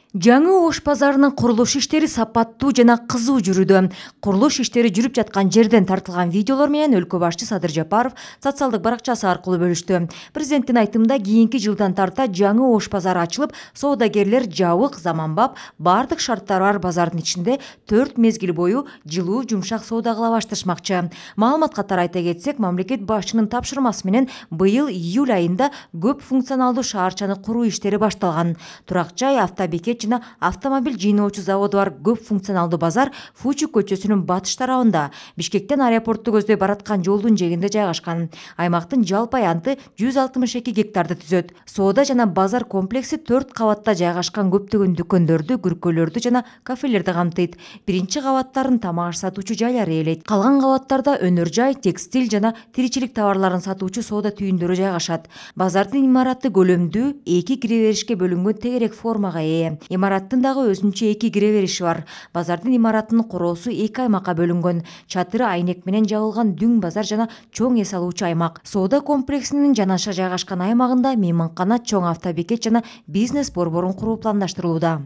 Жаңы Ош базарынын курулуш иштери сапаттуу жана кызуу жүрүүдө. Курулуш иштери жүрүп жаткан жерден тартылган видеолор менен өлкө башчы Садыр Жапаров социалдык баракчасы аркылуу бөлүштү. Президенттин айтымында кийинки жылдан тарта жаңы Ош базары ачылып, соодагерлер жабык, заманбап, бардык шарттары бар базардын ичинде 4 мезгил бою жылуу, жумшак соода кыла башташмакчы. Маалымат катары айта кетсек, мамлекет башчынын тапшырмасы менен быйыл июль айында көп функционалдуу шаарчаны куруу иштери башталган. Турак жай, автобекет жана автомобиль жыйноочу заводу бар көп функционалдуу базар Фучу көчөсүнүн батыш тарабында, Бишкектен аэропортту көздөй бараткан жолдун жээгинде жайгашкан. Аймактын жалпы аянты 162 гектарды түзөт. Соода жана базар комплекси 4 кабатта жайгашкан көптөгөн дүкөндөрдү, күркөлөрдү жана кафелерди камтыйт. Биринчи кабаттарын тамак аш сатуучу жайлар ээлейт. Калган кабаттарда өнөр жай, текстиль жана тиричилик товарларын сатуучу соода түйүндөрү жайгашат. Базардын имараты көлөмдүү, 2 кире беришке бөлүнгөн тегерек формага ээ. Имараттын дагы өзүнчө 2 кире бериши бар. Базардын имаратынын короосу 2 аймакка бөлүнгөн. Чатыры айнек менен жабылган дүң базар жана чоң эс алуучу аймак. Соода комплексинин жанаша жайгашкан аймагында мейманкана, чоң автобекет жана бизнес борборун куруу пландаштырылууда.